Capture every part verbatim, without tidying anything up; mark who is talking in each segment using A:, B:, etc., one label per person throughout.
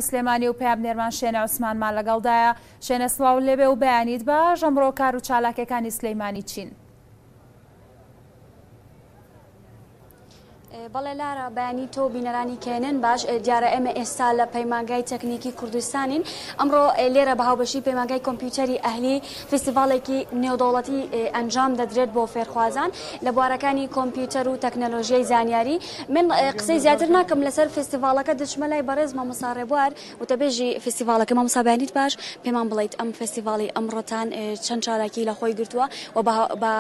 A: سلێمانی و پەیامنێرمان شێنە عوسمانمان لەگەڵدایە. شێنە سڵاو لێبێ و بەیانیت باش. ئەمڕۆ کار و چالاکیەکانی سلەیمانی چین؟
B: بەڵێ لارا، بەیانی تۆ بینەرانی کێنن باش. دیارە ئێمە ئێستا لە پەیمانگای تەکنیکی کوردستانین. ئەمڕۆ لێرە بە هاوبەشی پەیمانگای کۆمپیوتەری ئەهلی فستیڤاڵێکی نێودەوڵەتی ئەنجام دەدرێت بۆ فێرخوازان لە بوارەکانی کۆمپیوتەر و تەکنەلۆژیای زانیاری. من قسەی زیاتر ناکەم لەسەر فستیڤاڵەکە، دەچمە لای بەڕێز مامۆستا ڕێبوار وتەبێژی فستیڤاڵەکە. مامۆستا بەیانیت باش، پێمان بڵیت ئەم فستیڤاڵی ئەمڕۆتان چەند چالاکی لە خۆی گرتووە و بە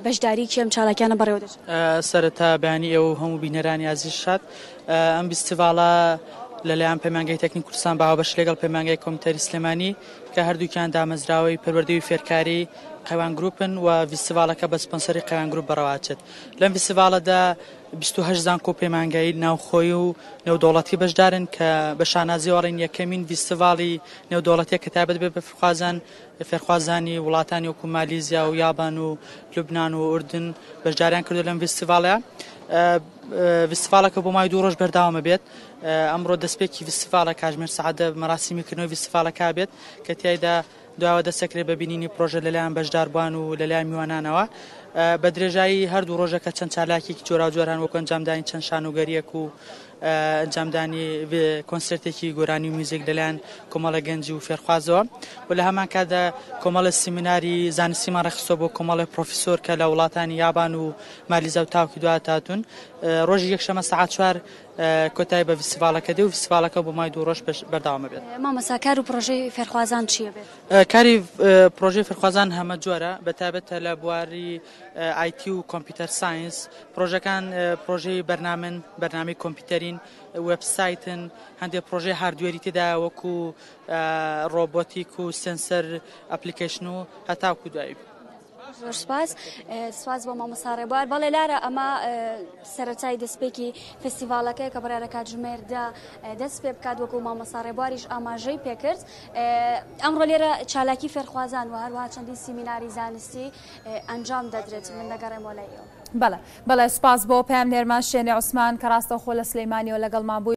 B: بەشداری کێم چالاکیانە بەڕێوە دەچێت؟
C: سەرەتا بەیانی ئێوە هەموو بینەرانی ئازیز شاد. ئەم فستیڤاڵە لەلایەن پەیمانگای تەکنیک کوردستان بە هاوبەشی لەگەڵ پەیمانگای کۆمپیوتەری سلێمانی کە هەردووکیان دامەزراوەی پەروەردەی و فێرکاری قەیوان گروپن و فستیڤاڵەکە بە سپۆنسەری قەیوان گروپ بەڕێوەچێت. لەم فستیڤاڵەدا بیست و هەشت زانکۆ پەیمانگای ناوخۆی و نێودەوڵەتی بەشدارن کە بە شانازیەوە ئەڵێن یەکەمین فستیڤاڵی نێودەوڵەتیە کە تایبەت بێت بە فێرخوازان فێرخوازانی وڵاتانی وەکو مالیزیا و یابان و لوبناان و ئوردن بەشداریان کردو لەم فستیڤاڵەیە. فستیڤاڵەکە بۆ ماوەی دوو ڕۆژ بەردەوامە بێت. ئەمڕۆ دەستپێکی فستیڤاڵە کاتژمێر سەعات مەراسیمی کردنەوەی فستیڤاڵەکە بێت کە تیایدا دواوە دەستەکرێت بە بینینی پرۆژە لەلایەن بەشداربووان و لەلایەن میوانانەوە. بە درێژایی هەردوو ڕۆژەکە چەند چالاکێکی جۆراوجۆران وەکو ئەنجامدانی چەند شانۆگەریەک و ئەنجامدانی کۆنسێرتێکی گۆرانی و میوزیک لەلایەن کۆمەڵە گەنج و فێرخوازەوە و لە هەمان کاتدا کۆمەڵە سیمیناری زانستیمان ڕێکخستووە بۆ کۆمەڵە پرۆفیسۆر کە لە وڵاتانی یابان و مالیزیا و تاوکی دوات هاتوون. ڕۆژی یەکشەممە سەعات چوار کۆتایی بە فستیڤاڵەکە دێ و فستیڤاڵەکە بۆ ماوەی دوو ڕۆژ بەردەوامە بێت.
B: مامۆستا کار و پرۆژەی فێرخوازان چییە بێت؟
C: کاری پرۆژەی فێرخوازان هەمە جۆرە، بە تایبەتە لە بواری IT و computer science. پرۆژەکان پرۆژەی بەرنامەن، بەرنامەی کۆمپیوتەرین، وێبسایتن، هەندێک پرۆژەی hardware ی تێدایە وەکو robotic و sensor application و هەتاوکو دوایی.
B: زۆر سپاس. سپاس بۆ مامۆستا ڕێبوار. بەڵێ لارە، ئەمە سەرەتای دەستپێکی فستیڤاڵەکەیە کە بڕیارە کاتژمێردا دەست پێ بکات وەکو مامۆستا ڕێبواریش ئاماژەی پێکرد. ئەمڕۆ لێرە چالاکی فێرخوازان و هەروەها چەندین سیمیناری زانستی ئەنجام دەدرێت. من دەگەڕێمەوە لای ئێوە.
A: بەڵێ بەڵێ، سپاس بۆ پەیامنێرمان شێنێ عوسمان کە ڕاستەوخۆ لە سلەیمانیەوە لەگەڵمان بووی.